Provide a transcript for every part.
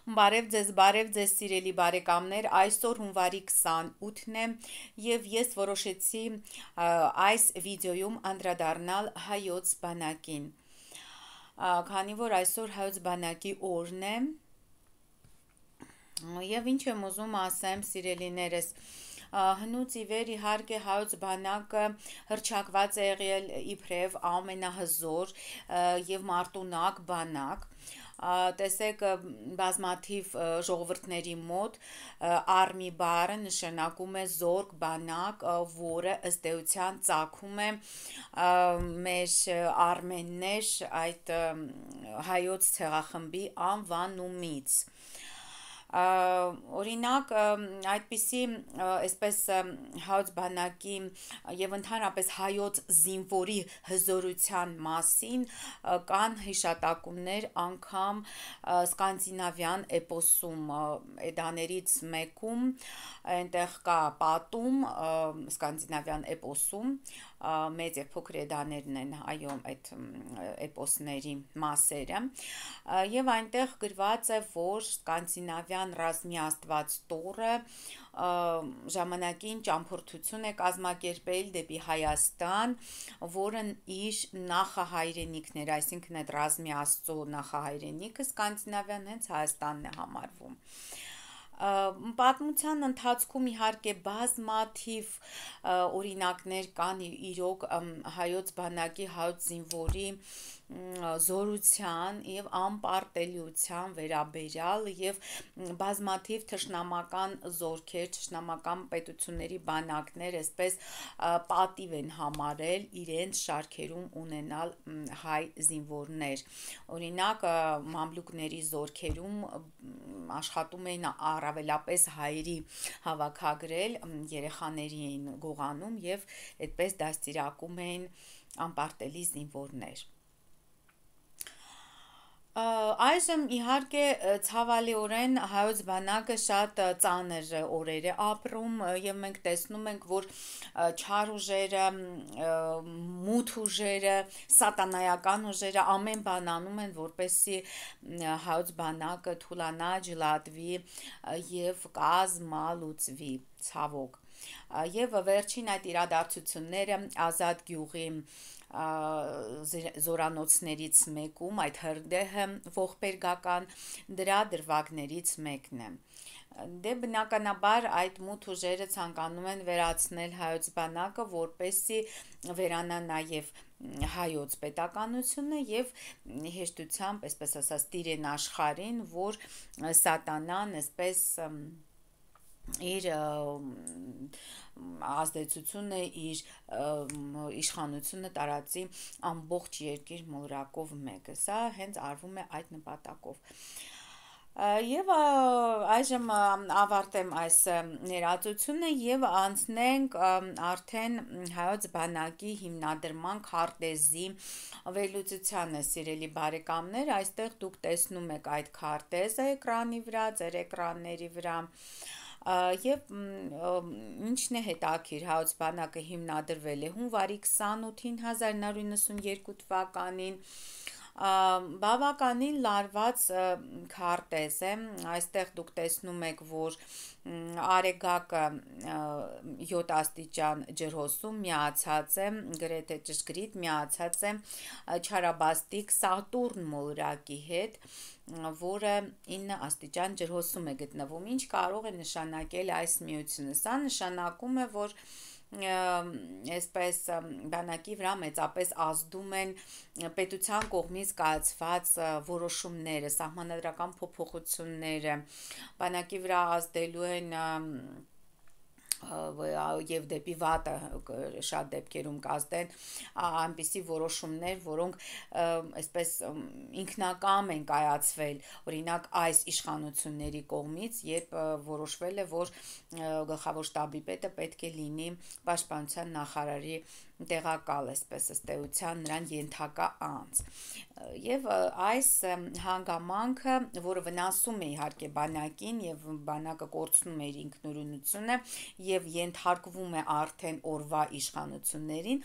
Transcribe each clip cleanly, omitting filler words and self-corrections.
Բարև ձեզ սիրելի բարեկամներ, այսօր հունվարի 28-ն է և ես որոշեցի այս վիդեոյում անդրադառնալ հայոց բանակին, քանի որ այսօր հայոց բանակի օրն է և ինչ եմ ուզում ասեմ սիրելիներս, հնուց ի վեր իհարկե հայոց բանակը հռչակված է եղել իբրև ամենահզոր և մարտունակ բանակ, տեսեք բազմաթիվ ժողովուրդների մոտ արմի բառը նշանակում է զորք, բանակ, որը ըստ էության ծագում է մեր արմեններ այդ հայոց ցեղախմբի անվանումից, օրինակ այդպիսի այսպես հայոց բանակի և ընդհանրապես հայոց զինվորի հզորության մասին կան հիշատակումներ անգամ սկանդինավյան էպոսում, էդաներից մեկում, այնտեղ կա պատում սկանդինավյան էպոսում, մեծ և փոքր էդաներն են այո այդ էպոսների մասերը և այնտեղ գրված է, որ սկանդինավյան ռազմի աստված Տորը ժամանակին ճամփորդություն է կազմակերպել դեպի Հայաստան, որն իր նախահայրենիքն էր, այսինքն այդ ռազմի աստծո նախահայրենիքը սկանդինավյան հենց Հայաստանն է համարվում, պատմության ընթացքում իհարկե բազմաթիվ օրինակներ կան իրոք հայոց բանակի, հայոց զինվորի զորության և անպարտելիության վերաբերյալ և բազմաթիվ թշնամական զորքեր, թշնամական պետությունների բանակներ այսպես պատիվ են համարել իրենց շարքերում ունենալ հայ զինվորներ, օրինակ մամլուկների զորքերում աշխատում էին առավելապես հայերի հավաքագրել, երեխաների էին գողանում և այդպես դաստիարակում էին անպարտելի զինվորներ, այժմ իհարկե ցավալիորեն հայոց բանակը շատ ծանր օրեր է ապրում և մենք տեսնում ենք, որ չար ուժերը, մութ ուժերը, սատանայական ուժերը ամեն բան անում են, որպեսզի հայոց բանակը թուլանա, ջլատվի և կազմալուծվի, ցավոք, և վերջին այդ իրադարձությունները Ազատ գյուղի զորանոցներից մեկում, այդ հրդեհը ողբերգական դրա դրվագներից մեկն է, դե բնականաբար այդ մութ ուժերը ցանկանում են վերացնել հայոց բանակը, որպեսզի վերանա նաև հայոց պետականությունը և հեշտությամբ, այսպես ասած, տիրեն աշխարհին, որ սատանան այսպես իր ազդեցությունը, իր իշխանությունը տարածի ամբողջ երկիր մոլորակով մեկը, սա հենց արվում է այդ նպատակով, և այժմ ավարտեմ այս ներածությունը և անցնենք արդեն հայոց բանակի հիմնադրման քարտեզի վերլուծությանը, սիրելի բարեկամներ, այստեղ դուք տեսնում եք այդ քարտեզը էկրանի վրա, ձեր էկրանների վրա, և ինչն է հետաքրքիր, հայոց բանակը հիմնադրվել է հունվարի 28-ին 1992 թվականին, բավականին լարված քարտեզ է, այստեղ դուք տեսնում եք, որ Արեգակը 7 աստիճան ջրհոսում միացած է, գրեթե ճշգրիտ միացած է չարաբաստիկ Սատուրն մոլորակի հետ, որը 9 աստիճան ջրհոսում է գտնվում, ինչ կարող է նշանակել այս միությունը, սա նշանակում է, որ այսպես բանակի վրա մեծապես ազդում են պետության կողմից կայացված որոշումները, սահմանադրական փոփոխությունները, բանակի վրա ազդելու են և դեպի վատը շատ դեպքերում կազդեն այնպիսի որոշումներ, որոնք այսպես ինքնակամ են կայացվել, օրինակ այս իշխանությունների կողմից, երբ որոշվել է, որ գլխավոր շտաբի պետը պետք է լինի պաշտպանության նախարարի տեղակալ, այսպես ըստ էության նրան ենթակա անձ, և այս հանգամանքը, որը վնասում է իհարկե բանակին և բանակը կորցնում է իր ինքնուրույնությունը և ենթարկվում է արդեն օրվա իշխանություններին,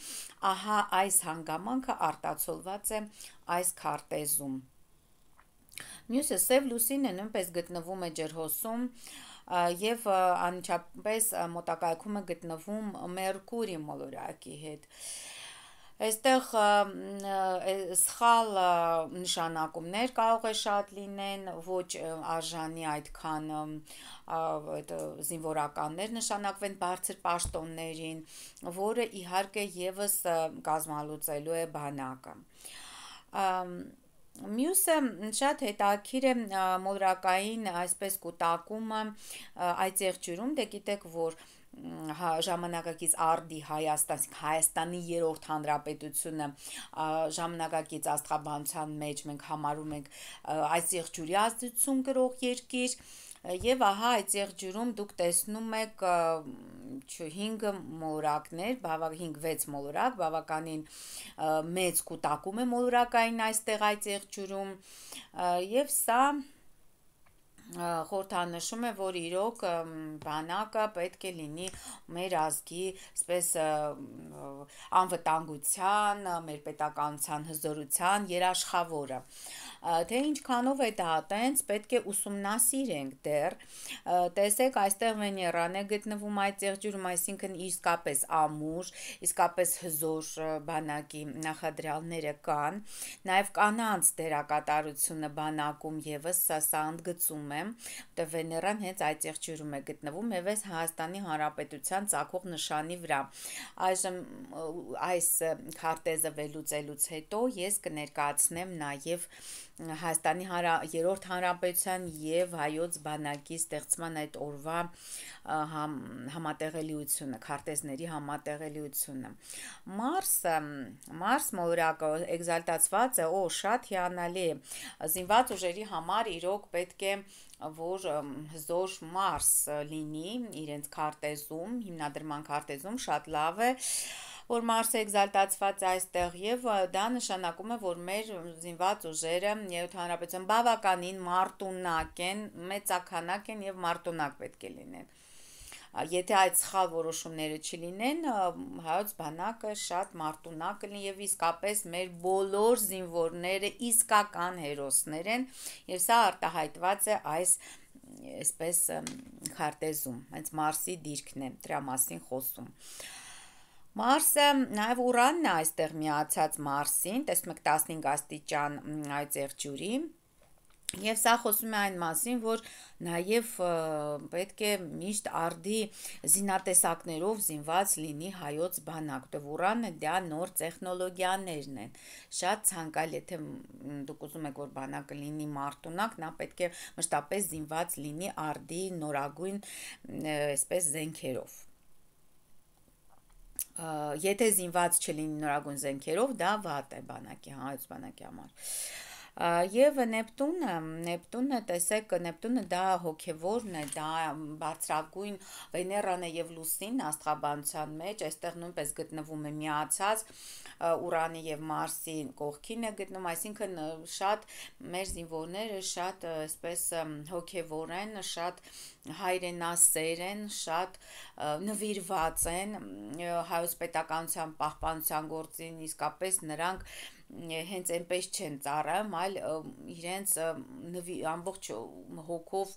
ահա այս հանգամանքը արտացոլված է այս քարտեզում, Մյուսը սև լուսինը նույնպես գտնվում է ջրհոսում եւ անմիջապես մոտակայքում է գտնվում Մերկուրի մոլորակի հետ։ Այստեղ սխալ նշանակումներ կարող է շատ լինեն, ոչ արժանի այդքան այդ զինվորականներ նշանակվեն բարձր պաշտոններին, որը իհարկե եւս կազմալուծելու է բանակը։ Մյուսը շատ հետաքրքիր է մոլորակային այսպես կուտակումը այծեղջյուրում, դե գիտեք, որ ժամանակակից արդի Հայաստանի երրորդ հանրապետությունը ժամանակակից աստղաբանության մեջ մենք համարում ենք այծեղջյուրի ազդեցություն կրող երկիր, եւ ահա այդ եղջյուրում դուք տեսնում եք 5 մոլորակներ, 5-6 մոլորակ, բավականին մեծ կուտակում է մոլորակային այստեղ այդ եղջյուրում, եւ սա խորհրդանշում է, որ իրոք բանակը պետք է լինի մեր ազգի այսպես անվտանգության, մեր պետականության հզորության երաշխավորը։ Թե ինչքանով է դա տենց, պետք է ուսումնասիրենք դեռ, տեսեք, այստեղ Վեներան է գտնվում այդ եղջյուրում, այսինքն իսկապես ամուր, իսկապես հզոր բանակի նախադրյալները կան, նաև կանանց դերակատարությունը բանակում եւս սա ընդգծում է, որտեղ Վեներան հենց այդ եղջյուրում է գտնվում եւ այս Հայաստանի Հանրապետության ծագող նշանի վրա։ Այժմ այս քարտեզը վերլուծելուց հետո ես կներկայացնեմ նաև Հայաստանի երրորդ հանրապետության եւ հայոց բանակի ստեղծման այդ օրվա համատեղելիությունը, քարտեզների համատեղելիությունը։ Մարս մոլորակը էկզալտացված է, շատ հիանալի է։ Զինված ուժերի համար իրոք պետք է որ հզոր Մարս լինի իրենց քարտեզում, հիմնադրման քարտեզում շատ լավ է, որ Մարսը էկզալտացված է այստեղ եւ դա նշանակում է, որ մեր զինված ուժերը Երրորդ հանրապետության բավականին մարտունակ են, մեծաքանակ են եւ մարտունակ պետք է լինեն։ Եթե այդ սխալ որոշումները չլինեն, հայոց բանակը շատ մարտունակ կլինի եւ իսկապես մեր բոլոր զինվորները իսկական հերոսներ են եւ սա արտահայտված է այս այսպես քարտեզում, հենց Մարսի դիրքն է դրա մասին խոսում։ Մարսը նաև Ուրանն է այստեղ միացած Մարսին, տեսնում եք 15 աստիճան այդ եղջյուրի, եւ սա խոսում է այն մասին, որ նաև պետք է միշտ արդի զինատեսակներով զինված լինի հայոց բանակ, որտեղ Ուրանը դա նոր տեխնոլոգիաներն են։ Շատ ցանկալի, եթե դուք ուզում եք, որ բանակը լինի մարտունակ, նա պետք է մշտապես զինված լինի արդի նորագույն այսպես զենքերով։ Եթե զինված չլինի նորագույն զենքերով, դա վատ է բանակի, հայոց բանակի համար։ Եվ Նեպտունը, տեսեք, Նեպտունը դա հոգևորն է, դա բարձրագույն Վեներան է եւ Լուսինն աստղաբանության մեջ, այստեղ նույնպես գտնվում է միացած Ուրանի եւ Մարսի կողքին է գտնում, այսինքն շատ մեր զինվորները շատ այսպես հոգևոր են, շատ հայրենասեր են, շատ նվիրված են հայոց պետականության պահպանության գործին, իսկապես նրանք հենց այնպես չեն ծառայում, այլ իրենց ամբողջ հոգով,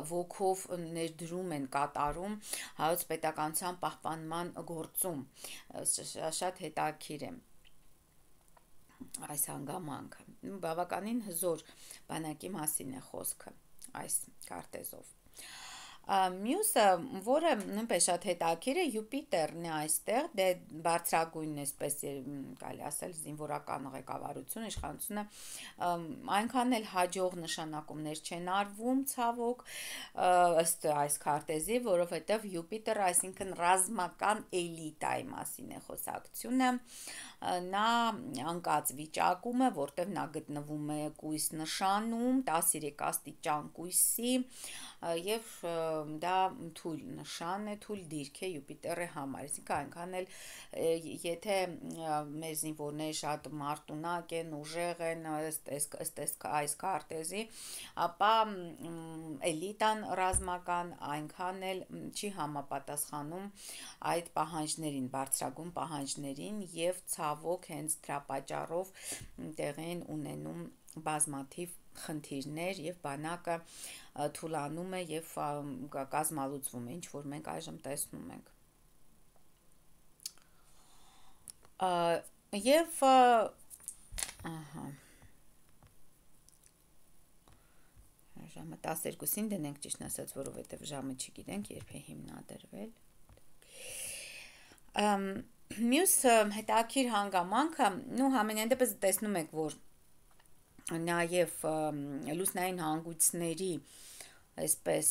ոգով ներդրում են կատարում հայոց պետականության պահպանման գործում։ Շատ հետաքրքիր է այս հանգամանքը։ Բավականին հզոր բանակի մասին է խոսքը այս քարտեզով։ Մյուսը, որը նույնպես շատ հետաքրքիր է, Յուպիտերն է այստեղ, դե բարձրագույնն էսպես կարելի ասել զինվորական ղեկավարություն, իշխանությունը այնքան էլ հաջող նշանակումներ չեն արվում ցավոք ըստ այս քարտեզի, որովհետև Յուպիտերը, այսինքն ռազմական էլիտայի մասին է խոսակցությունը, նա անկած վիճակում է, որտեղ նա գտնվում է կույս նշանում, 13 աստիճան կույսի եւ դա թույլ նշան է, թույլ դիրք է Յուպիտերի համար, այսինքն այնքան էլ եթե մեր զինվորները շատ մարտունակ են, ուժեղ են, այս քարտեզի, ապա էլիտան ռազմական այնքան էլ չի համապատասխանում այդ պահանջներին, բարձրագույն պահանջներին եւ ցավոք հենց դրա պատճառով տեղի են ունենում բազմաթիվ խնդիրներ եւ բանակը թուլանում է եւ կազմալուծվում է, ինչ որ մենք այժմ տեսնում ենք։ Եվ ահա ժամը 12-ին դնենք, ճիշտ ասած, որովհետեւ ժամը չգիտենք երբ է հիմնադրվել։ Մյուս հետաքրքիր հանգամանքը, համենայն դեպս տեսնում եք, որ նաև լուսնային հանգույցների այսպես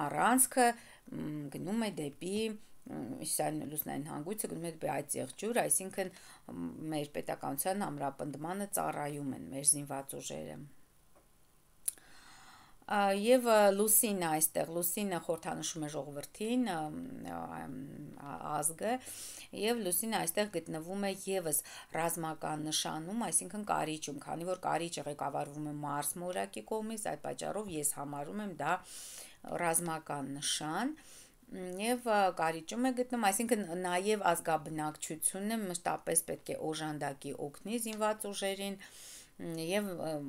առանցքը գնում է դեպի լուսնային հանգույցը գնում է դեպի այդ եղջյուր, այսինքն մեր պետականության ամրապնդմանը ծառայում են մեր զինված ուժերը։ Եվ լուսինը այստեղ, լուսինը խորհրդանշում է ժողովրդին, ազգը, եւ լուսինը այստեղ գտնվում է եւս ռազմական նշանում, այսինքն կարիճում, քանի որ կարիճը ղեկավարվում է Մարս մորակի կողմից, այդ պատճառով ես համարում եմ դա ռազմական նշան։ Եվ կարիճում է գտնում, այսինքն նաեւ ազգաբնակչությունը մշտապես պետք է օժանդակի օգնի զինված ուժերին եւ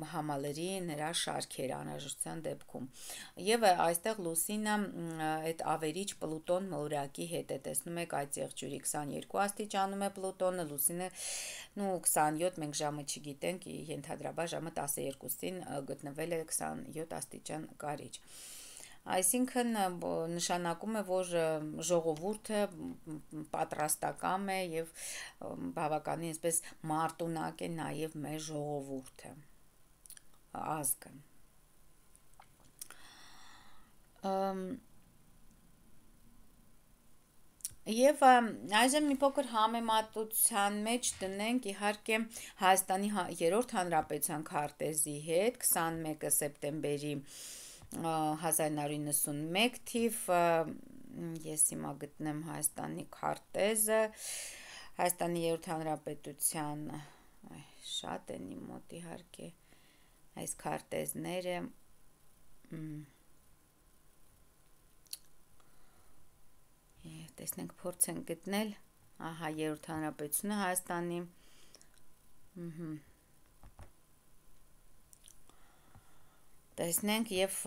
համալրի նրա շարքեր անհրաժեշտության դեպքում։ Եվ այստեղ լուսինը այդ ավերիչ Պլուտոն մորակի հետ է, տեսնում եք այդ եղջյուրի 22 աստիճանում է Պլուտոնը, լուսինը 27, մենք ժամը չգիտենք, ենթադրաբար ժամը 12-ին գտնվել է 27 աստիճան կարիճ։ Այսինքն նշանակում է, որ ժողովուրդը պատրաստակամ է եւ բավականին այսպես մարտունակ է նաեւ մեր ժողովուրդը, ազգը։ Եվ այժմ մի փոքր համեմատության մեջ դնենք իհարկե Հայաստանի երրորդ հանրապետության քարտեզի հետ 21 սեպտեմբերի 1991 թիվ, ես հիմա գտնեմ Հայաստանի քարտեզը, Հայաստանի երրորդ հանրապետության, շատ են իմ մոտ իհարկե այս քարտեզները, տեսնենք փորձենք գտնել, ահա երրորդ հանրապետությունը Հայաստանի, տեսնենք եւ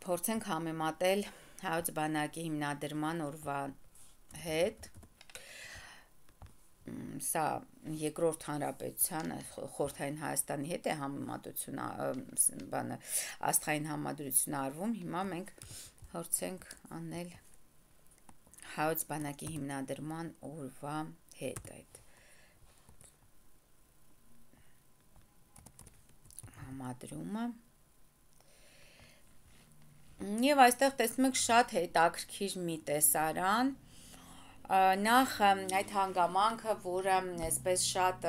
փորձենք համեմատել հայոց բանակի հիմնադրման օրվա հետ, սա երկրորդ հանրապետության խորհրդային Հայաստանի հետ է համեմատությունը, աստղային համադրություն արվում, հիմա մենք փորձենք անել հայոց բանակի հիմնադրման օրվա հետ այդ համադրումը եւ այստեղ տեսնում եք շատ հետաքրքիր մի տեսարան, նախ այդ հանգամանքը, որը այսպես շատ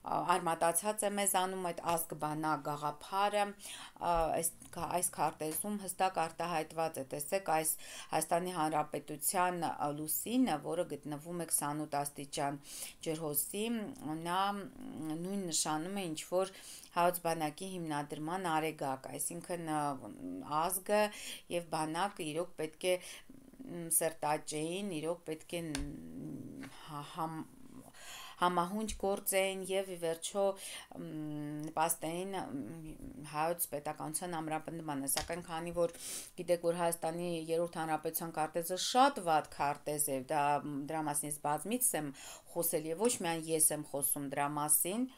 արմատացած է մեզանում այդ ազգ-բանակ գաղափարը, այս քարտեզում հստակ արտահայտված է, տեսեք այս Հայաստանի Հանրապետության լուսինը, որը գտնվում է 28 աստիճան ջրհոսի, նա նույն նշանում է ինչ որ հայոց բանակի հիմնադրման արեգակ, այսինքն ազգը եւ բանակը իրոք պետք է սրտաճեին, իրոք պետք է համահունչ գործեն եւ ի վերջո նպաստեին հայոց պետականության ամրապնդմանը, սակայն քանի որ գիտեք, որ Հայաստանի երրորդ հանրապետության քարտեզը շատ վատ քարտեզ է, դրա մասին ես բազմիցս եմ խոսել եւ ոչ միայն ես եմ խոսում դրա մասին,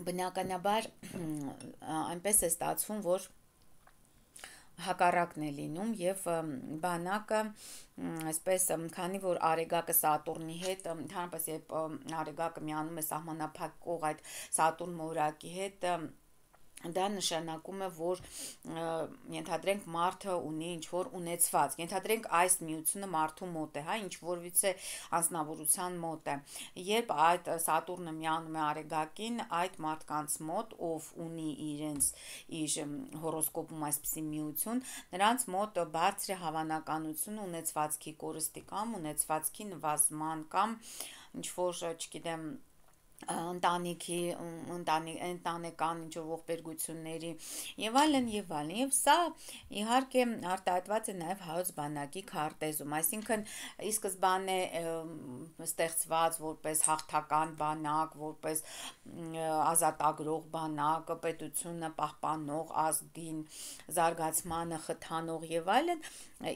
բնականաբար այնպես է ստացվում, որ հակառակն է լինում եւ բանակը այսպես քանի որ արեգակը Սատուրնի հետ ընդհանրապես երբ արեգակը միանում է սահմանափակող այդ Սատուրն մորակի հետ դա նշանակում է, որ ենթադրենք մարդը ունի ինչ-որ ունեցված, ենթադրենք այս միությունը մարդու մոտ է, հա, ինչ-որից է անձնավորության մոտ է, երբ այդ Սատուրնը միանում է արեգակին, այդ մարդկանց մոտ, ով ունի իր հորոսկոպում այսպիսի միություն, նրանց մոտ բարձր է հավանականություն ունեցվածքի կորստի կամ ունեցվածքի նվազման կամ ինչ-որ, չգիտեմ, ընտանիքի ընտանեկան ինչ-որ ողբերգությունների եւ այլն եւ այլն, եւ սա իհարկե արտահայտված է նաեւ հայոց բանակի քարտեզում, այսինքն ի սկզբանե ստեղծված որպես հաղթական բանակ, որպես ազատագրող բանակ, պետությունը պահպանող, ազգին զարգացմանը խթանող եւ այլն,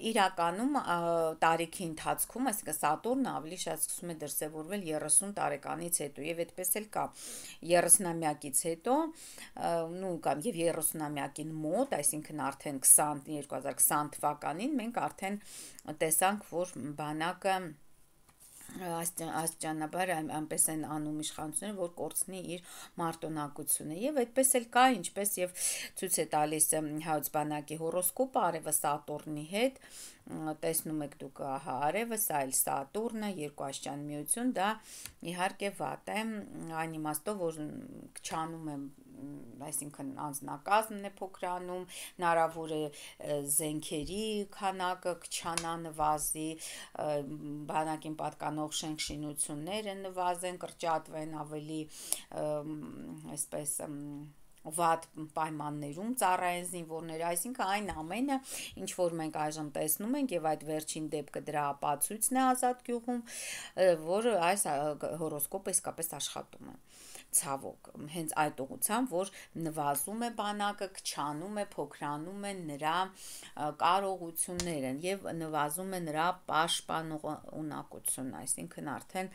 իրականում տարիքի ընթացքում, այսինքն Սատուրնը ավելի շատ սկսում է դրսևորվել 30 տարեկանից հետո եւ այդպես էլ կա 30-ամյակից հետո նու կամ եւ 30-ամյակին մոտ, այսինքն արդեն 2020 թվականին մենք արդեն տեսանք, որ բանակը աստիճանաբար այնպես են անում իշխանությունները, որ կորցնի իր մարտունակությունը եւ այդպես էլ կա, ինչպես եւ ցույց է տալիս հայոց բանակի հորոսկոպը արևը Սատուրնի հետ, տեսնում եք դուք, ահա արևը, սա էլ Սատուրնը, երկուաստիճան միություն, դա իհարկե վատ է, այն իմաստով, որ քչանում է, այսինքն անձնակազմն է փոքրանում, հնարավոր է զենքերի քանակը քչանա, նվազի, բանակին պատկանող շենք-շինությունները նվազեն, կրճատվեն, ավելի այսպես վատ պայմաններում ծառայեն զինվորները, այսինքն այն ամենը, ինչ որ մենք այժմ տեսնում ենք եւ այդ վերջին դեպքը դրա ապացույցն է Ազատ գյուղում, որ այս հորոսկոպը իսկապես աշխատում է, ցավոք, հենց այդ ուղղությամբ, որ նվազում է բանակը, քչանում է, փոքրանում է նրա կարողությունները եւ նվազում է նրա պաշտպանողունակությունը, այսինքն արդեն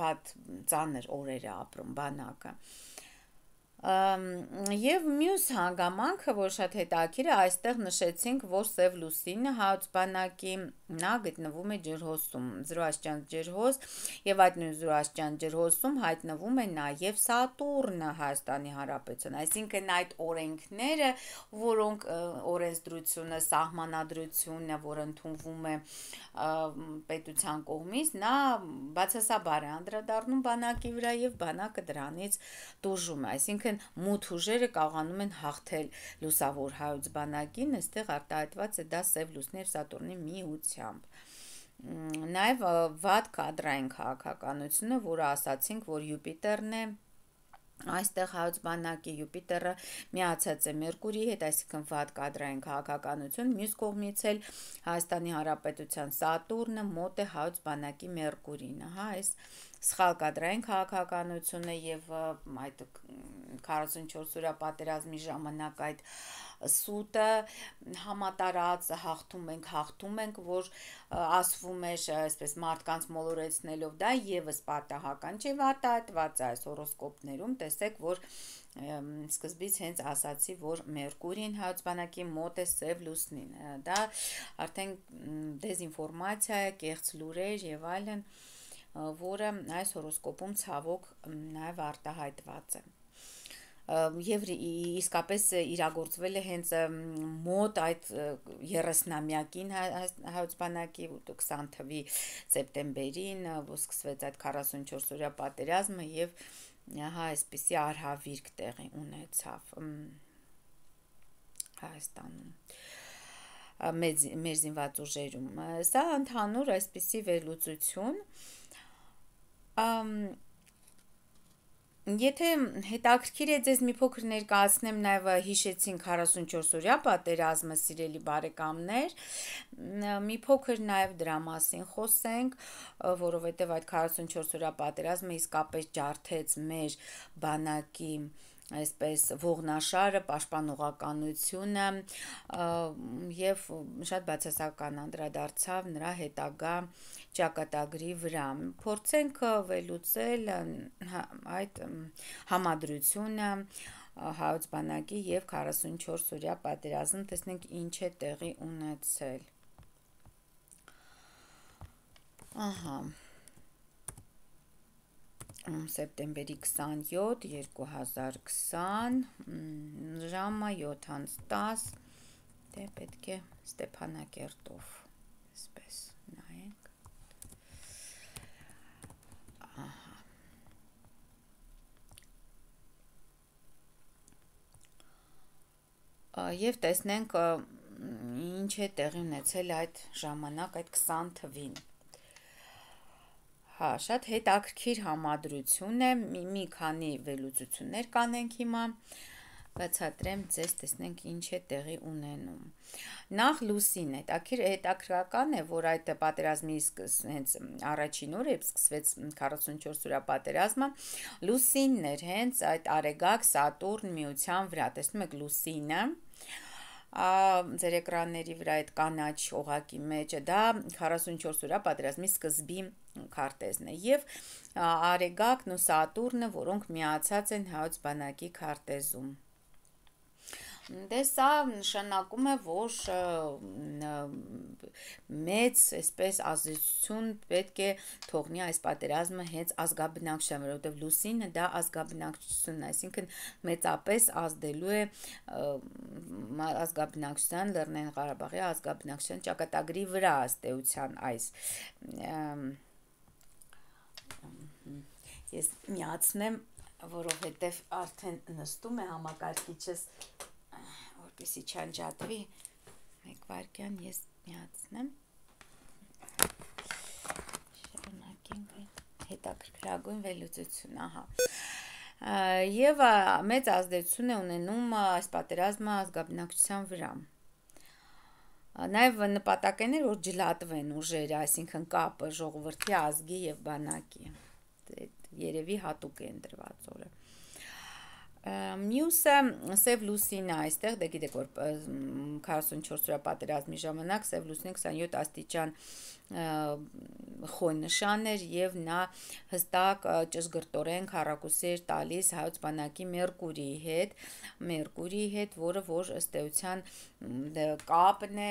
վատ ծանր օրեր է ապրում բանակը։ Եվ մյուս հանգամանքը, որ շատ հետաքրքիր է, այստեղ նշեցինք, որ Սև լուսինը հայոց բանակի նա գտնվում է ջրհոսում, 0 ջրհոս, եւ այդ նույն 0 ջրհոսում հայտնվում է նաեւ Սատուրնը Հայաստանի Հանրապետության, այսինքն այդ օրենքները, որոնք օրենսդրությունը, սահմանադրությունը, որ ընդունվում է պետության կողմից, նա բացասաբար է անդրադառնում բանակի վրա եւ բանակը դրանից դժում է, այսինքն մութ ուժերը կարողանում են հաղթել լուսավոր հայոց բանակին, այստեղ արտահայտված է դա Սև լուսնի եւ Սատուրնի միությամբ։ Նաեւ վատ կադրային քաղաքականությունը, որը ասացինք, որ Յուպիտերն է, այստեղ հայոց բանակի Յուպիտերը միացած է Մերկուրիի հետ, այսինքն վատ կադրային քաղաքականություն, մյուս կողմից էլ Հայաստանի Հանրապետության Սատուրնը մոտ է հայոց բանակի Մերկուրին, հա, այս սխալ կադրային քաղաքականությունը եւ այդ 44 օրյա պատերազմի ժամանակ այդ սուտը համատարած հաղթում ենք, որ ասվում է այսպես մարդկանց մոլորեցնելով, դա եւս պատահական չէ, արտահայտված է այս հորոսկոպներում, տեսեք, որ սկզբից հենց ասացի, որ Մերկուրին հայոց բանակի մոտ է Սև լուսնին, դա արդեն դեզինֆորմացիա է, կեղծ լուրեր եւ այլն, որը այս հորոսկոպում ցավոք նաեւ արտահայտված է։ Եվ իսկապես իրագործվել է հենց մոտ այդ 30-ամյակին հայոց բանակի 20 թվականի սեպտեմբերին, որ սկսվեց այդ 44 օրյա պատերազմը եւ հա այսպիսի արհավիրք տեղի ունեցավ Հայաստանում մեր զինված ուժերում։ Սա ընդհանուր այսպիսի վերլուծություն, եթե հետաքրքիր է ձեզ մի փոքր ներկայացնեմ, նաև հիշեցինք 44 օրյա պատերազմը, սիրելի բարեկամներ, մի փոքր նաև դրա մասին խոսենք, որովհետև այդ 44 օրյա պատերազմը իսկապես ջարդեց մեր բանակի այսպես ողնաշարը, պաշտպանողականությունը եւ շատ բացասական անդրադարձավ նրա հետագա ճակատագրի վրա։ Փորձենք վերլուծել այդ համադրությունը հայոց բանակի եւ 44 օրյա պատերազմ, տեսնենք ինչ է տեղի ունեցել։ Ահա սեպտեմբերի 27, 2020, ժամը 7:10, դե պետք է Ստեփանակերտով, այսպես նայենք, և տեսնենք ինչ է տեղի ունեցել այդ ժամանակ, այդ 20 թվին։ Հա, շատ հետաքրքիր համադրություն է, մի քանի վերլուծություններ կանենք հիմա, բացատրեմ ձեզ, տեսնենք ինչ է տեղի ունենում։ Նախ լուսին հետաքրքրական է, որ այդ պատերազմի հենց առաջին օրը սկսվեց 44 օրյա պատերազմը, լուսինն էր հենց այդ Արեգակ Սատուրն միության վրա, տեսնում եք լուսինը, ձեր էկրանների վրա այդ կանաչ օղակի մեջը, դա 44 օրյա պատերազմի սկզբի քարտեզն է, և Արեգակն ու Սատուրնը, որոնք միացած են հայոց բանակի քարտեզում։ Դե սա նշանակում է, որ մեծ այսպես ազդեցություն պետք է թողնի այս պատերազմը հենց ազգաբնակչության, որովհետև լուսինը դա ազգաբնակչությունն է, այսինքն մեծապես ազդելու է ազգաբնակչության, Լեռնային Ղարաբաղի ազգաբնակչության ճակատագրի վրա ըստ էության այս ես միացնեմ, որովհետև արդեն նստում է համակարգիչս, որպեսզի չանջատվի, մեկ վայրկյան ես միացնեմ, շարունակենք հետաքրքրագույն վերլուծություն, ահա, և մեծ ազդեցություն է ունենում այս պատերազմը ազգաբնակչության վրա։ Նաև նպատակն էր, որ ջլատվեն ուժերը, այսինքն կապը ժողովրդի, ազգի և բանակի, երևի հատուկ է ընտրված օրը։ Մյուսը Սև լուսինը այստեղ, դե գիտեք, որ 44 օրյա պատերազմի ժամանակ Սև լուսինը 27 աստիճան խոյ նշան էր և նա հստակ ճշգրտորեն քառակուսի էր տալիս հայոց բանակի Մերկուրիի հետ, որը որ ըստ էության կապն է,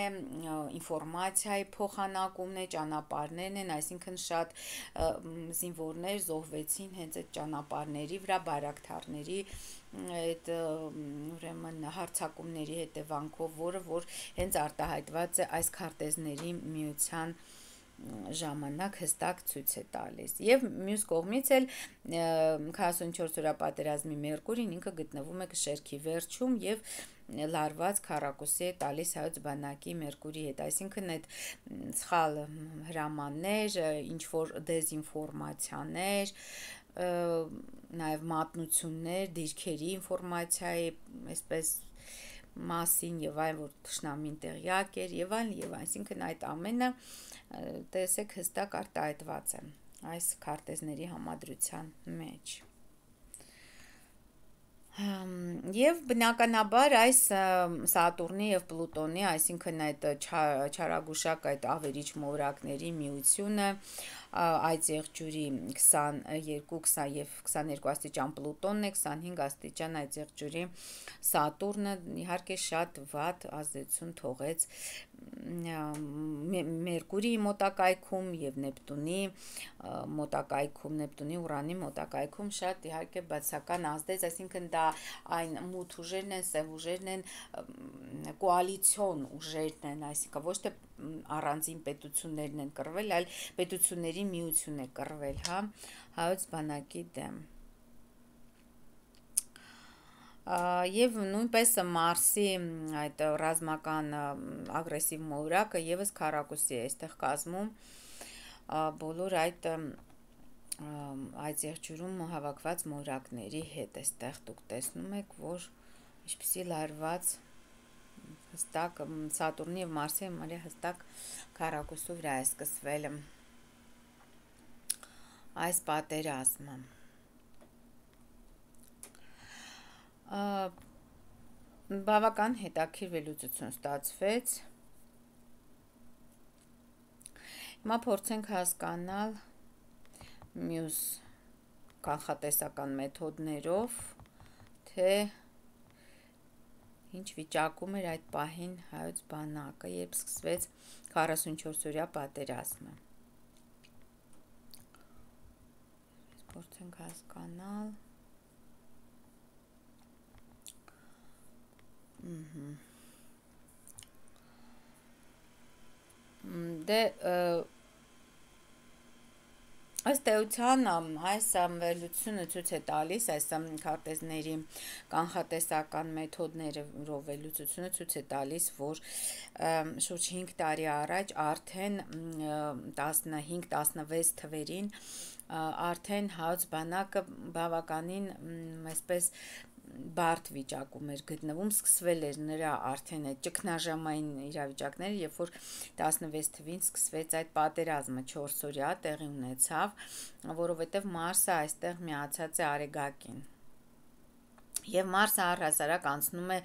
ինֆորմացիայի փոխանակումն է, ճանապարհներն են, այսինքն շատ զինվորներ զոհվեցին հենց այդ ճանապարհների վրա, բայրակթարների այդ ուրեմն հարձակումների հետևանքով, որը որ հենց արտահայտված է այս քարտեզների միության ժամանակ հստակ ցույց է տալիս։ Եվ մյուս կողմից էլ 44 օրյա պատերազմի Մերկուրին ինքը գտնվում է շերքի վերջում և լարված քառակուսի է տալիս հայոց բանակի Մերկուրիի հետ, այսինքն այդ սխալ հրամաններ, ինչ-որ դեզինֆորմացիաներ, նաև մատնություններ, դիրքերի ինֆորմացիայի, այսպես մասին և այն, որ թշնամին տեղյակ էր և այլն, այսինքն այդ ամենը տեսեք հստակ արտահայտված է այս քարտեզների համադրության մեջ։ Եվ բնականաբար այս Սատուրնի և Պլուտոնի, այսինքն այդ չարագուշակ այդ ավերիչ մոլորակների միությունը, այդ եղջյուրի 22 և 22 աստիճան Պլուտոնն է, 25 աստիճան այդ եղջյուրի Սատուրնը իհարկե շատ վատ ազդեցություն թողեց Մերկուրիի մոտակայքում և Նեպտունի մոտակայքում, Նեպտունի Ուրանի մոտակայքում շատ իհարկե բացասական ազդեց, այսինքն դա այն մութ ուժերն են, սև ուժերն են, կոալիցիոն ուժերն են, այսինքն ոչ թե առանձին պետություններն են կռվել, այլ պետությունների միություն է կռվել, հա, հայոց բանակի դեմ։ Եվ նույնպես Մարսի այդ ռազմական ագրեսիվ մոլորակը եւս քառակուսի է այստեղ կազմում բոլոր այդ եղջյուրում հավաքված մոլորակների հետ, այստեղ դուք տեսնում եք, որ ինչպիսի լարված հստակ Սատուրնի և Մարսի հստակ քառակուսու վրա է սկսվել այս պատերազմը։ Բավական հետաքրքիր վերլուծություն ստացվեց։ Հիմա փորձենք հասկանալ մյուս կանխատեսական մեթոդներով, թե ինչ վիճակում էր այդ պահին հայոց բանակը, երբ սկսվեց 44 օրյա պատերազմը։ Փորձենք հասկանալ։ Դե Ըստ էության այս վերլուծությունը ցույց է տալիս այս քարտեզների կանխատեսական մեթոդներով վերլուծությունը ցույց է տալիս, որ շուրջ 5 տարի առաջ արդեն 15-16 թվերին արդեն Հայոց բանակը բավականին այսպես բարդ վիճակում էր գտնվում, սկսվել էր նրա արդեն այդ ճգնաժամային իրավիճակները, երբ որ 16 թվին սկսվեց այդ պատերազմը 4-օրյա տեղի ունեցավ, որովհետև Մարսը այստեղ միացած է Արեգակին։ Եվ Մարսը առհասարակ անցնում է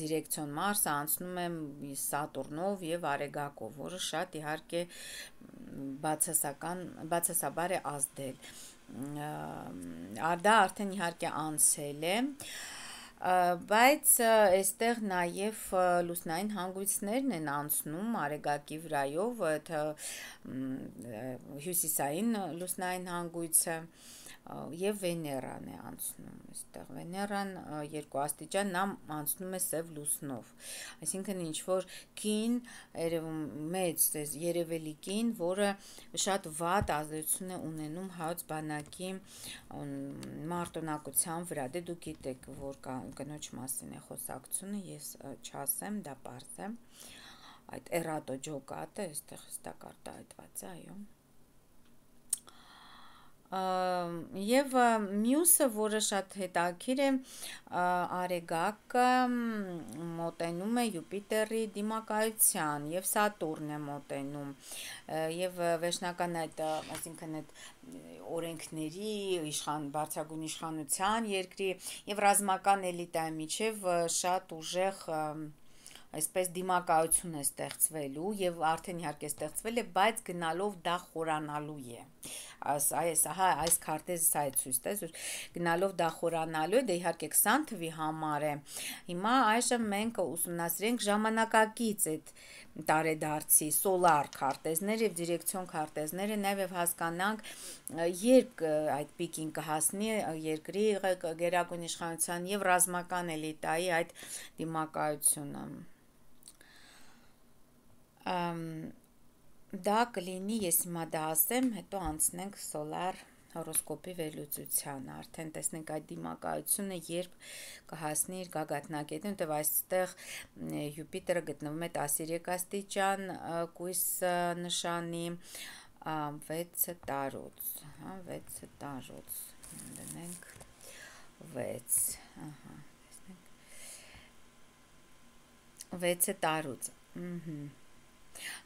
դիրեկցիոն Մարսը անցնում է Սատուրնով եւ Արեգակով, որը շատ իհարկե բացասաբար է ազդել։ Դա արդեն իհարկե անցել է, բայց այստեղ նաև լուսնային հանգույցներն են անցնում Արեգակի վրայով, հյուսիսային լուսնային հանգույցը եւ Վեներան է անցնում այստեղ։ Վեներան 2 աստիճան նա անցնում է սև լուսնով, այսինքն ինչ որ կին մեծ երևելի կին, որը շատ վատ ազդեցություն է ունենում Հայոց բանակի մարտունակության վրա։ Դե դուք գիտեք, որ կնոջ մասին է խոսակցությունը, ես չասեմ, դա պարզ է։ Այդ էրատո ջոկատը այստեղ հստակ արտահայտված է, այո։ Եվ մյուսը, որը շատ հետաքրքիր է, Արեգակը մոտենում է Յուպիտերի դիմակայության եւ Սատուրն է մոտենում եւ վերջնական այդ այսինքն այդ օրենքների բարձրագույն իշխանության երկրի եւ ռազմական էլիտայի միջև շատ ուժեղ այսպես դիմակայություն է ստեղծվելու եւ արդեն իհարկե ստեղծվել է, բայց գնալով դա խորանալու է։ Այս քարտեզը սա է ցույց տալիս, որ գնալով դա խորանալու է, դա իհարկե 20 թվի համար է։ Հիմա այժմ մենք ուսումնասիրենք ժամանակակից այդ տարեդարձի սոլար քարտեզներ եւ դիրեկցիոն քարտեզները, նաեւ հասկանանք երբ այդ պիկին կհասնի երկրի գերագույն իշխանության եւ ռազմական էլիտայի այդ դիմակայությունը։ Դա կլինի, ես հիմա դա ասեմ, հետո անցնենք սոլար հորոսկոպի վերլուծության, արդեն տեսնենք այդ դիմակայությունը երբ կհասնի իր գագաթնակետին, որտեղ այստեղ Յուպիտերը գտնվում է 13 աստիճան կույս նշանի 6 տարուց, 6 տարուց, դնենք 6, 6 տարուց,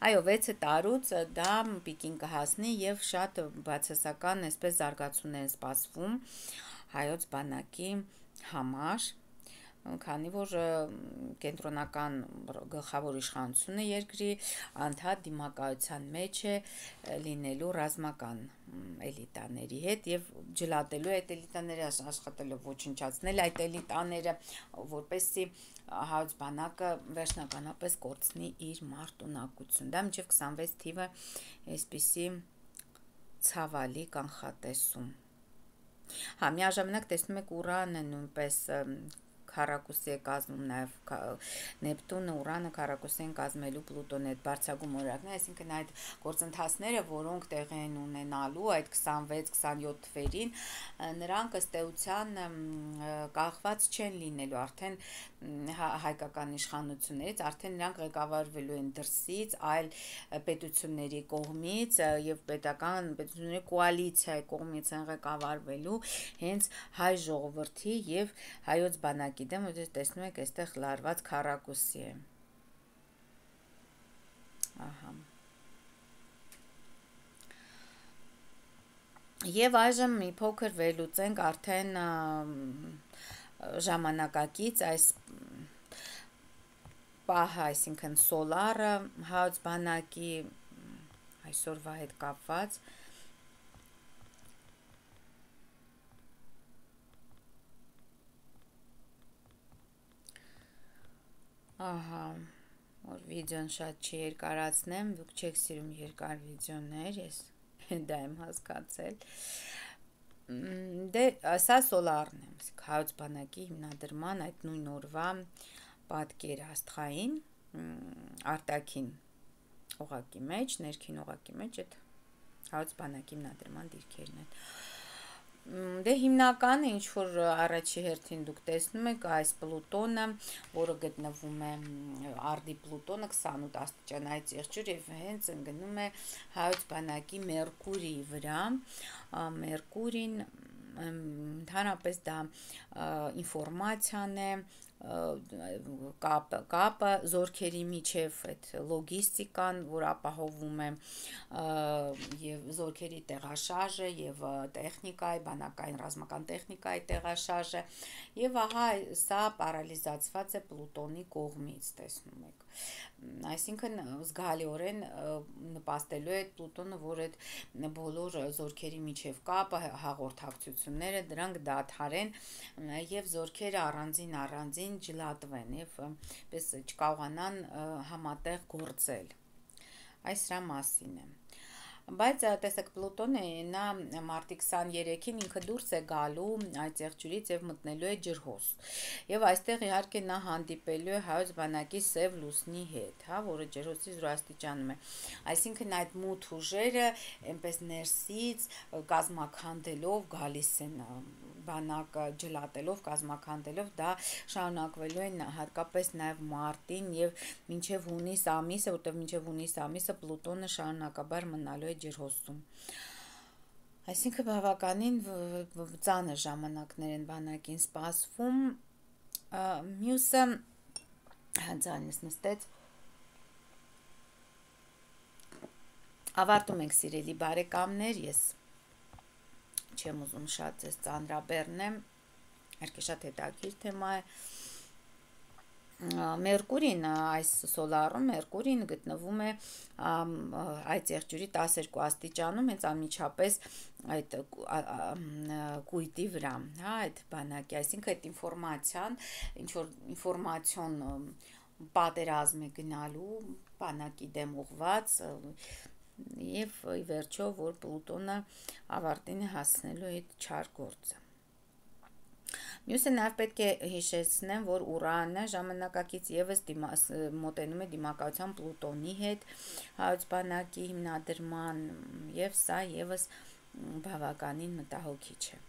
Այո, 6 տարուց դա պիկին կհասնի եւ շատ բացասական այսպես զարգացումներ են սպասվում Հայոց բանակի համար, քանի որ կենտրոնական գլխավոր իշխանությունը երկրի անդադ դիմակայության մեջ է լինելու ռազմական էլիտաների հետ եւ ջլատելու այդ էլիտաները, աշխատելով ոչնչացնել այդ էլիտաները, որպեսզի Հայոց բանակը վերջնականապես կորցնի իր մարտունակություն։ Դա մինչև 26 թիվը այսպիսի ցավալի կանխատեսում։ Միաժամանակ տեսնում եք Ուրանը նույնպես քառակուսի է կազմում նաև Նեպտունը, Ուրանը քառակուսի են կազմելու Պլուտոնի այդ բարձրագույն օրակները, այսինքն այդ գործընթացները, որոնք տեղի են ունենալու այդ 26-27 թվերին, նրանք ըստ էության կախված չեն լինելու արդեն հայկական իշխանություններից, արդեն նրանք ղեկավարվելու են դրսից, այլ պետությունների կողմից եւ պետությունների կոալիցիայի կողմից են ղեկավարվելու հենց հայ ժողովրդի եւ հայոց բանակի դեմ, որտեղ տեսնում եք, այստեղ լարված քառակուսի է։ Ահա։ Եվ այժմ մի փոքր վերլուծենք արդեն ժամանակակից այս պահը, այսինքն սոլարը Հայոց բանակի այսօրվա հետ կապված։ Ահա, որ վիդեոն շատ չի երկարացնեմ, դուք չեք սիրում երկար վիդեոներ, ես դա եմ հասկացել։ Դե սա սոլարն է, Հայոց բանակի հիմնադրման այդ նույն օրվա պատկերը աստղային արտաքին օղակի մեջ, ներքին օղակի մեջ այդ հայոց բանակի հիմնադրման դիրքերն են։ Դե հիմնականը ինչ որ առաջի հերթին դուք տեսնում եք այս Պլուտոնը, որը գտնվում է արդի Պլուտոնը 28 աստիճանային ճեղքյուր եւ հենց ընկնում է հայոց բանակի Մերկուրիի վրա։ Մերկուրին ընդհանրապես դա ինֆորմացիան է, կապը զորքերի միջև, այդ լոգիստիկան, որ ապահովում է եւ զորքերի տեղաշարժը եւ տեխնիկայի, բանակային ռազմական տեխնիկայի տեղաշարժը եւ ահա սա պարալիզացված է Պլուտոնի կողմից, տեսնում եք։ Այսինքն զգալիորեն նպաստելու է Պլուտոնը, որ այդ բոլոր զորքերի միջև կապը, հաղորդակցությունները դրանք դադարեն եւ զորքերը առանձին ջլատվեն եւ պես չկարողանան համատեղ գործել։ Այս սրա մասին է։ Բայց տեսեք Պլուտոնը նա մարտի 23-ին ինքը դուրս է գալու այդ ծեղջյուրից եւ մտնելու է ջրհոս։ Եվ այստեղ իհարկե նա հանդիպելու է հայոց բանակի Սև լուսնի հետ, հա, որը ջրհոսի զորաստիճանում է։ Այսինքն այդ մութ ուժերը այնպես ներսից կազմաքանդելով գալիս են բանակը ջլատելով, կազմաքանդելով, դա շարունակվելու են հատկապես նաև մարտին եւ մինչեւ հունիս ամիսը, որտեղ մինչեւ հունիս ամիսը Պլուտոնը շարունակաբար մնալու է ջրհոսում։ Այսինքն բավականին ծանր ժամանակներ են բանակին սպասվում։ Մյուսը ձայնս նստեց։ Ավարտում ենք սիրելի բարեկամներ, ես չեմ ուզում շատ ձեզ ծանրաբեռնեմ, իհարկե շատ հետաքրքիր թեմա է։ Մերկուրին, այս սոլարում Մերկուրին գտնվում է այդ ծեղջյուրի 12 աստիճանում, հենց անմիջապես այդ կույտի վրա, հա, այդ բանակի, այսինքն այդ ինֆորմացիան, ինչ որ ինֆորմացիոն պատերազմ է գնալու բանակի դեմ ուղված եւ ի վերջո որ Պլուտոնը ավարտին է հասնելու այդ չար գործը։ Մյուսը նաև պետք է հիշեցնեմ, որ Ուրանը ժամանակակից եւս մոտենում է դիմակայության Պլուտոնի հետ հայոց բանակի հիմնադրման եւ սա եւս բավականին մտահոգիչ է։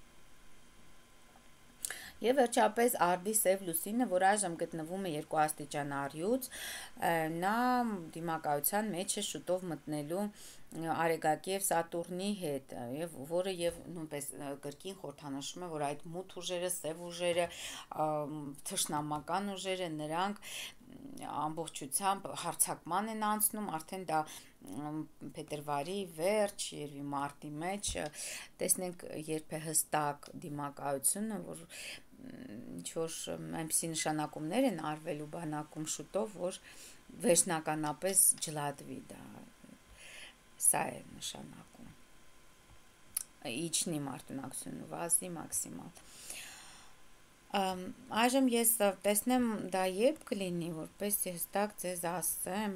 Եվ վերջապես արդի Սև լուսինը, որ այժմ գտնվում է 2 աստիճան առյուծ, նա դիմակայության մեջ է շուտով մտնելու Արեգակի եւ Սատուրնի հետ, եւ որը եւ նույնպես կրկին խորհրդանշում է, որ այդ մութ ուժերը, Սև ուժերը, թշնամական ուժերը, նրանք ամբողջությամբ հարձակման են անցնում, արդեն դա փետրվարի վերջ, երևի մարտի մեջ տեսնենք երբ է հստակ դիմակայությունը, որ ինչ որ այնպիսի նշանակումներ են արվելու բանակում շուտով, որ վերջնականապես ջլատվի դա, սա է նշանակում, իջնի մարտունակությունը, վազի մաքսիմալ։ Այժմ ես տեսնեմ դա երբ կլինի, որպես հստակ ձեզ ասեմ,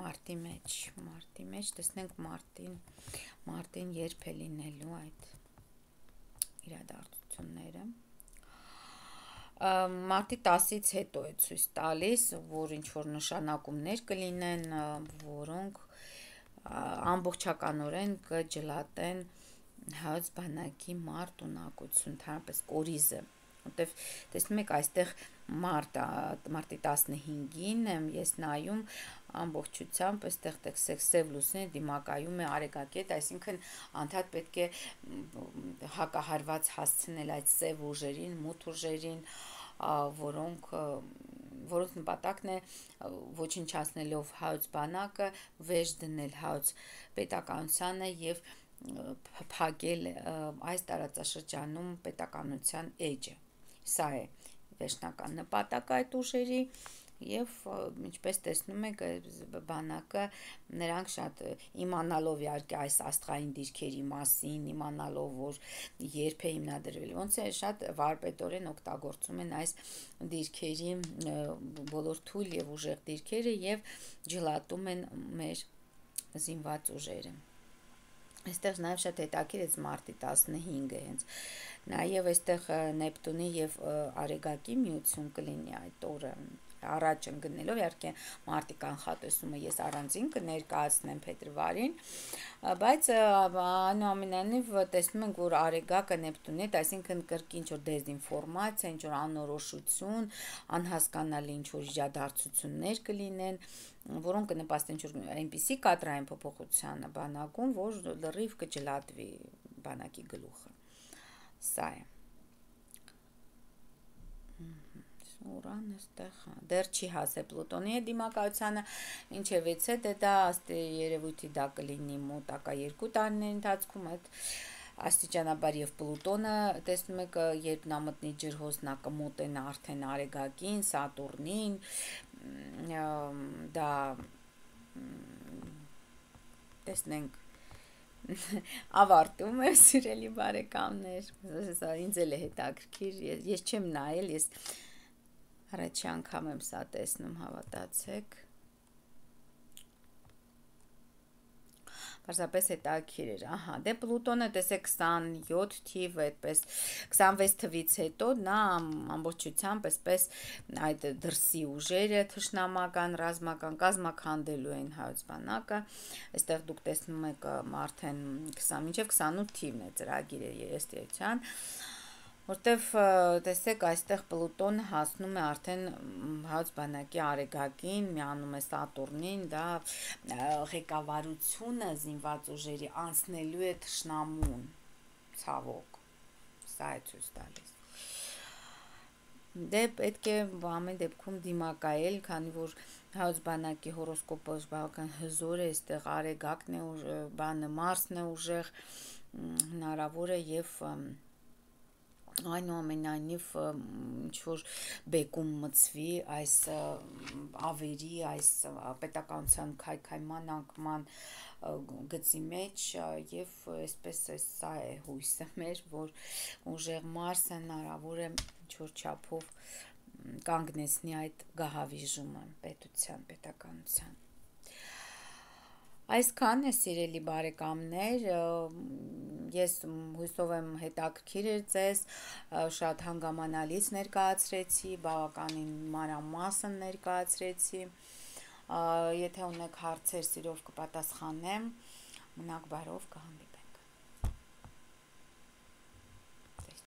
մարտի մեջ, տեսնենք մարտին երբ է լինելու այդ իրադարձությունները։ Մարտի 10-ից հետո է ցույց տալիս, որ ինչ որ նշանակումներ կլինեն, որոնք ամբողջականորեն կջլատեն հայոց բանակի մարտունակություն, ընդհանրապես կորիզը, որտեվ տեսնում եք այստեղ մարտի 15-ին եմ ես նայում ամբողջությամբ այստեղ տեսեք Սև լուսինը դիմակայում է Արեգակի հետ, այսինքն անդադ պետք է հակահարված հասցնել այդ Սև ուժերին, մութ ուժերին, որոնք նպատակն է ոչնչացնելով հայոց բանակը վեճ դնել հայոց պետականությանը եւ փակել այս տարածաշրջանում պետականության էջը։ Սա է վերջնական նպատակը այդ ուժերի եւ ինչպես տեսնում եք բանակը նրանք շատ իմանալով իհարկե այս աստղային դիրքերի մասին, իմանալով որ երբ է հիմնադրվել, ոնց է շատ վարպետորեն օգտագործում են այս դիրքերի բոլոր թույլ եւ ուժեղ դիրքերը եւ ջլատում են մեր զինված ուժերը։ Այստեղ նաև շատ հետաքրքիր է մարտի 15-ը հենց նաև այստեղ Նեպտունի եւ Արեգակի միություն կլինի այդ օրը, առաջ ընկնելով, իհարկե մարտի կանխատեսումը ես առանձին կներկայացնեմ փետրվարին, բայց այնուամենայնիվ տեսնում ենք, որ Արեգակը Նեպտունի հետ, այսինքն կրկին ինչ-որ դեզինֆորմացիա, ինչ-որ անորոշություն, անհասկանալի ինչ-որ իրադարձություններ կլինեն, որոնք կնպաստեն ինչ-որ այնպիսի կադրային փոփոխությանը բանակում, որ լրիվ կջլատվի բանակի գլուխը։ Սա է։ Ուրանը ստեղ դեռ չի հասել Պլուտոնի հետ դիմակայությանը, ինչևից է դա ըստ երևույթի դա կլինի մոտակա 2 տարիների ընթացքում, այդ աստիճանաբար եւ Պլուտոնը տեսնում եք, երբ նա մտնի ջրհոս, նա կմոտենա արդեն Արեգակին, Սատուրնին, դա տեսնենք ավարտում է, սիրելի բարեկամներ, ինձ էլ է հետաքրքիր, ես չեմ նայել, ես առաջի անգամ եմ սա տեսնում, հավատացեք, պարզապես հետաքրքիր էր, ահա, դե Պլուտոնը տեսեք 27 թիվ, այդպես 26 թվից հետո նա ամբողջությամբ այսպես այդ դրսի ուժերը թշնամական, ռազմական, կազմաքանդելու են հայոց բանակը, այստեղ դուք տեսնում եք արդեն 20 մինչև 28 թիվն է ծրագիրը երեսթերության, որտեվ տեսեք այստեղ Պլուտոնը հասնում է արդեն հայոց բանակի Արեգակին, միանում է Սատուրնին, դա ղեկավարությունը զինված ուժերի անցնելու է թշնամուն, ցավոք, սա է ցույց տալիս։ Դե պետք է ամեն դեպքում դիմակայել, քանի որ հայոց բանակի հորոսկոպը բավական հզոր է, այստեղ Արեգակն է, բանը Մարսն է ուժեղ, հնարավոր է եւ այնուամենայնիվ ինչ-որ բեկում մցվի այս ավերի, այս պետականության քայքայման անկման գծի մեջ եւ այսպես սա է հույսը մեր, որ ուժեղ Մարսը հնարավոր է ինչ-որ չափով կանգնեցնի այդ գահավիժումը պետականության։ Այսքան է, սիրելի բարեկամներ, ես հույսով եմ հետաքրքիր էր ձեզ, շատ հանգամանալից ներկայացրեցի, բավականին մանրամասն ներկայացրեցի, եթե ունեք հարցեր, սիրով կպատասխանեմ, մնաք բարով, կհանդիպենք։